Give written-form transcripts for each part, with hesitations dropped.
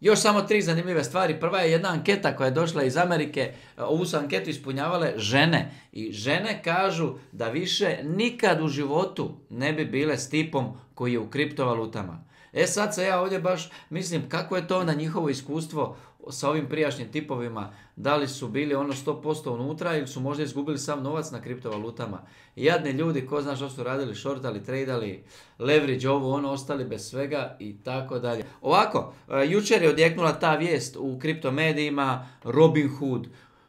Još samo 3 zanimljive stvari. Prva je jedna anketa koja je došla iz Amerike. Ovu su anketu ispunjavale žene. I žene kažu da više nikad u životu ne bi bile s tipom koji je u kriptovalutama. Sad se ja ovdje baš mislim kako je to onda njihovo iskustvo sa ovim prijašnjim tipovima. Da li su bili ono 100% unutra ili su možda izgubili sam novac na kriptovalutama. Jadni ljudi, ko zna što su radili, shortali, tradali, leverage, ovo, ono, ostali bez svega i tako dalje. Ovako, jučer je odjeknula ta vijest u kriptomedijima,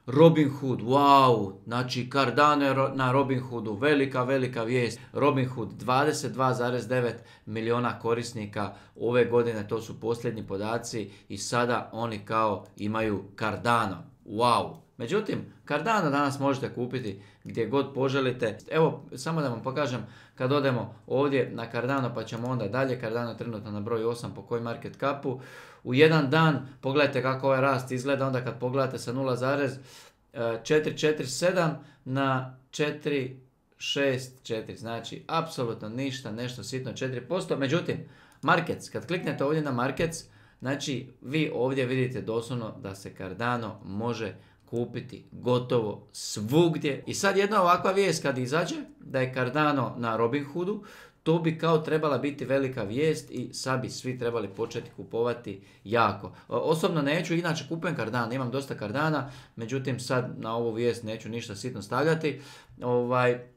Robinhood, wow, znači Cardano na Robinhoodu, velika vijest. Robinhood, 22,9 milijuna korisnika ove godine, to su posljednji podaci i sada oni kao imaju Cardano, wow. Međutim, Cardano danas možete kupiti gdje god poželite. Evo, samo da vam pokažem kad odemo ovdje na Cardano pa ćemo onda dalje. Cardano je trenutno na broju 8 po CoinMarketCapu. U jedan dan, pogledajte kako ovaj rast izgleda, onda kad pogledate sa 0,447 na 464, znači apsolutno ništa, nešto sitno 4%. Međutim, Markets, kad kliknete ovdje na Markets, znači vi ovdje vidite doslovno da se Cardano može kupiti gotovo svugdje. I sad jedna ovakva vijest kad izađe da je Cardano na Robinhoodu, to bi kao trebala biti velika vijest i sad bi svi trebali početi kupovati jako. Osobno neću, inače kupujem Cardano, imam dosta Cardana, međutim sad na ovu vijest neću ništa sitno stavljati.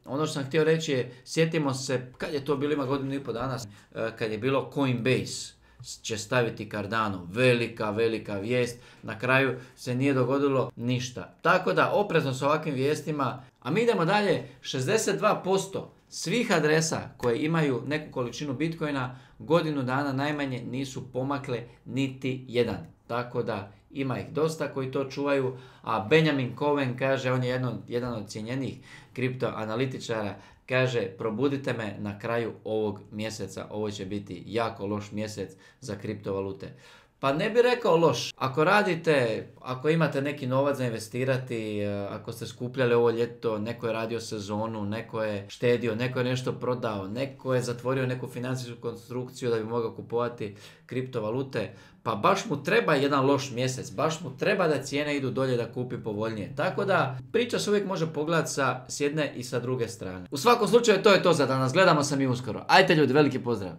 Ono što sam htio reći je, sjetimo se, kad je to bilo, ima godinu i pol dana, kad je bilo Coinbase će staviti Cardano, velika vijest, na kraju se nije dogodilo ništa. Tako da oprezno s ovakvim vijestima, a mi idemo dalje. 62% svih adresa koje imaju neku količinu Bitcoina godinu dana najmanje nisu pomakle niti jedan. Tako da ima ih dosta koji to čuvaju, a Benjamin Cohen kaže, on je jedan od cijenjenih kriptoanalitičara, kaže, probudite me na kraju ovog mjeseca, ovo će biti jako loš mjesec za kriptovalute. Pa ne bi rekao loš. Ako radite, ako imate neki novac za investirati, ako ste skupljali ovo ljeto, neko je radio sezonu, neko je štedio, neko je nešto prodao, neko je zatvorio neku financijsku konstrukciju da bi mogao kupovati kriptovalute, pa baš mu treba jedan loš mjesec, baš mu treba da cijene idu dolje da kupi povoljnije. Tako da priča se uvijek može pogledati s jedne i sa druge strane. U svakom slučaju to je to za danas, gledamo se mi uskoro. Ajde ljudi, veliki pozdrav!